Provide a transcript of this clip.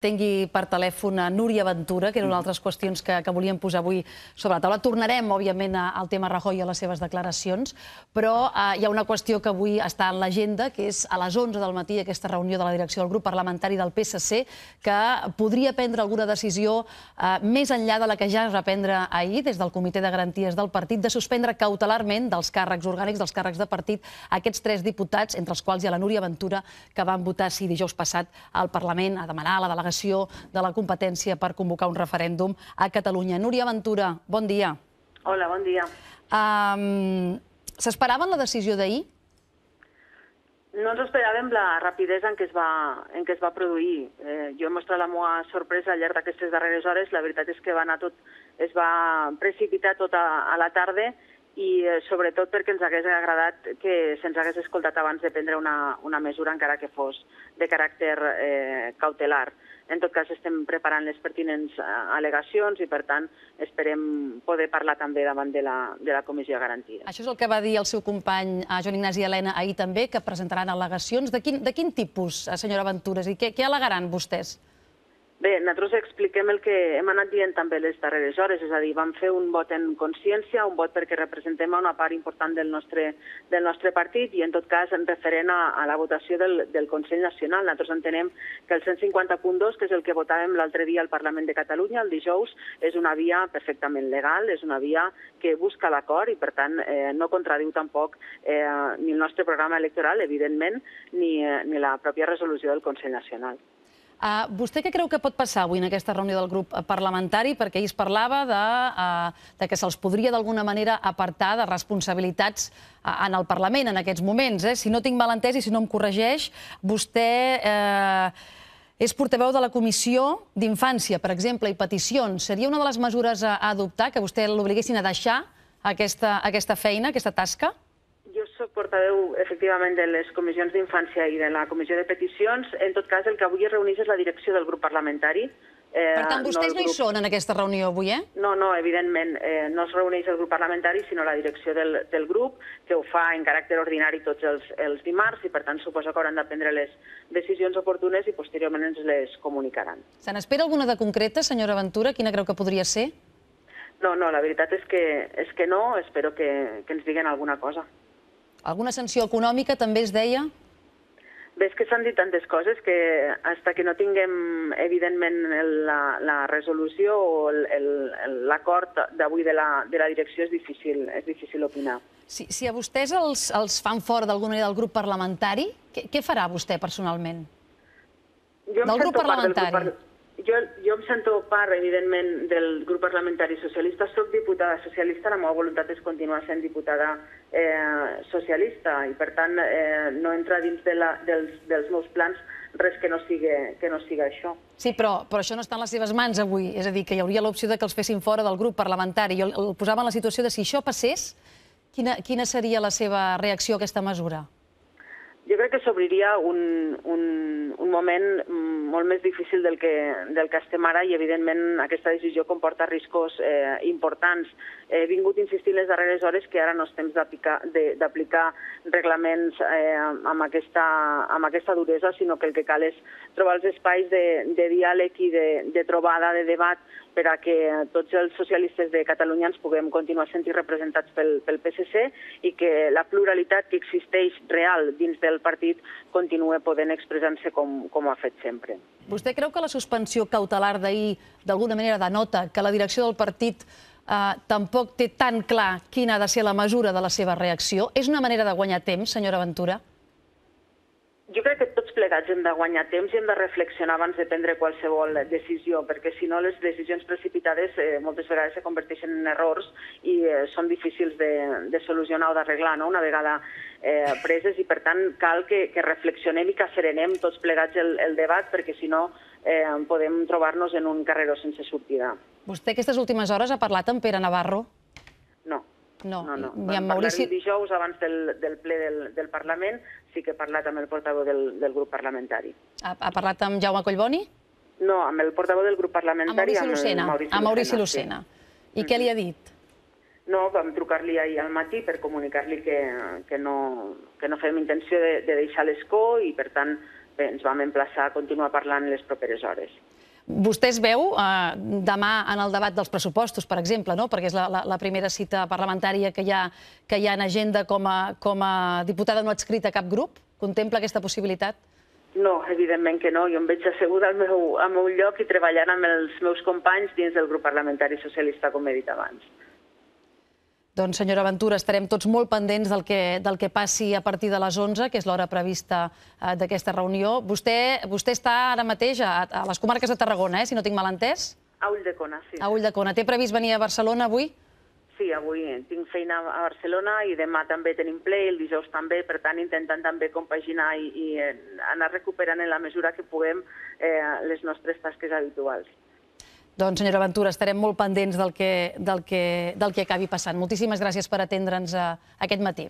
tingui per telèfon a Núria Ventura, que era una altres qüestions que volíem posar avui sobre la taula. Tornarem, òbviament, al tema Rajoy i a les seves declaracions, però hi ha una qüestió que avui està en l'agenda, que és a les 11 del matí aquesta reunió de la direcció del grup parlamentari del PSC, que podria prendre alguna decisió més enllà de la que ja es va prendre ahir des del Comitè de Garanties del partit, de suspendre cautelarment dels càrrecs orgànics, dels càrrecs de partit, aquests 3 diputats, entre els quals hi ha la Núria Ventura, que van votar sí dijous passat al Parlament a demanar la delegació de la competència per convocar un referèndum a Catalunya. Núria Ventura, bon dia. Hola, bon dia. S'esperaven la decisió d'ahir? No ens esperàvem la rapidesa en què es va produir. Jo he mostrat la meva sorpresa al llarg d'aquestes darreres hores. La veritat és que es va precipitar tot a la tarda i sobretot perquè ens hagués agradat que se'ns hagués escoltat abans de prendre una mesura, encara que fos de caràcter cautelar. En tot cas, estem preparant les pertinents al·legacions i, per tant, esperem poder parlar també davant de la Comissió de Garanties. Això és el que va dir el seu company Joan Ignasi Elena ahir també, que presentaran al·legacions. De quin tipus, senyora Ventura? Què al·legaran vostès? Bé, nosaltres expliquem el que hem anat dient també les darreres hores, és a dir, vam fer un vot en consciència, un vot perquè representem una part important del nostre partit i, en tot cas, en referent a la votació del Consell Nacional. Nosaltres entenem que el 150.2, que és el que votàvem l'altre dia al Parlament de Catalunya, el dijous, és una via perfectament legal, és una via que busca l'acord i, per tant, no contradiu tampoc ni el nostre programa electoral, evidentment, ni la pròpia resolució del Consell Nacional. Vostè què creu que pot passar avui en aquesta reunió del grup parlamentari? Perquè ahir es parlava de que se'ls podria d'alguna manera apartar de responsabilitats en el Parlament en aquests moments. Si no tinc mal entès i si no em corregeix, vostè és portaveu de la Comissió d'Infància, per exemple, i Peticions. Seria una de les mesures a adoptar, que vostè l'obliguessin a deixar aquesta feina, aquesta tasca? Jo soc portaveu, efectivament, de les comissions d'Infància i de la Comissió de Peticions. En tot cas, el que avui es reuneix és la direcció del grup parlamentari. Per tant, vostès no hi són en aquesta reunió avui, eh? No, evidentment, no es reuneix el grup parlamentari, sinó la direcció del grup, que ho fa en caràcter ordinari tots els dimarts i, per tant, suposo que hauran de prendre les decisions oportunes i posteriorment ens les comunicaran. Se n'espera alguna de concreta, senyora Ventura? Quina creu que podria ser? No, la veritat és que no. Espero que ens diguin alguna cosa. Alguna sanció econòmica també es deia? Bé, és que s'han dit tantes coses que fins que no tinguem, evidentment, la resolució o l'acord d'avui de la direcció és difícil opinar. Si a vostès els fan fora d'alguna manera del grup parlamentari, què farà vostè personalment? Del grup parlamentari. Jo em sento part, evidentment, del grup parlamentari socialista. Soc diputada socialista, la meva voluntat és continuar sent diputada socialista i, per tant, no entra dins dels meus plans res que no siga això. Sí, però això no està en les seves mans avui. És a dir, que hi hauria l'opció que els fessin fora del grup parlamentari. Jo el posava en la situació de si això passés, quina seria la seva reacció a aquesta mesura? Jo crec que s'obriria un moment molt més difícil del que estem ara i, evidentment, aquesta decisió comporta riscos importants. He vingut insistint les darreres hores que ara no és temps d'aplicar reglaments amb aquesta duresa, sinó que el que cal és trobar els espais de diàleg i de trobada, de debat, per a que tots els socialistes de Catalunya ens puguem continuar sent representats pel PSC i que la pluralitat que existeix real dins del partit continua podent expressar-se com ha fet sempre. Vostè creu que la suspensió cautelar d'ahir d'alguna manera denota que la direcció del partit tampoc té tan clar quina ha de ser la mesura de la seva reacció? És una manera de guanyar temps, senyora Ventura? Jo crec que tots plegats hem de guanyar temps i hem de reflexionar abans de prendre qualsevol decisió, perquè si no les decisions precipitades moltes vegades se converteixen en errors i són difícils de solucionar o d'arreglar una vegada preses i, per tant, cal que reflexionem i que asserenem tots plegats el debat, perquè si no podem trobar-nos en un carreró sense sortida. Vostè aquestes últimes hores ha parlat amb Pere Navarro? No. Vam parlar dijous abans del ple del Parlament, sí que he parlat amb el portaveu del grup parlamentari. Ha parlat amb Jaume Collboni? No, amb el portaveu del grup parlamentari, amb Maurici Lucena. I què li ha dit? No, vam trucar-li ahir al matí per comunicar-li que no fem intenció de deixar l'escó i, per tant, ens vam emplaçar a continuar parlant en les properes hores. Vostè es veu demà en el debat dels pressupostos, per exemple, no? Perquè és la primera cita parlamentària que hi ha en agenda com a diputada no adscrita a cap grup? Contempla aquesta possibilitat? No, evidentment que no. Jo em veig asseguda al meu lloc i treballant amb els meus companys dins del grup parlamentari socialista, com he dit abans. Doncs, senyora Ventura, estarem tots molt pendents del que passi a partir de les 11, que és l'hora prevista d'aquesta reunió. Vostè està ara mateix a les comarques de Tarragona, si no tinc mal entès? A Ulldecona, sí. A Ulldecona. Té previst venir a Barcelona avui? Sí, avui tinc feina a Barcelona i demà també tenim ple, el dijous també, per tant intentant també compaginar i anar recuperant en la mesura que puguem les nostres tasques habituals. Doncs, senyora Ventura, estarem molt pendents del que acabi passant. Moltíssimes gràcies per atendre'ns aquest matí.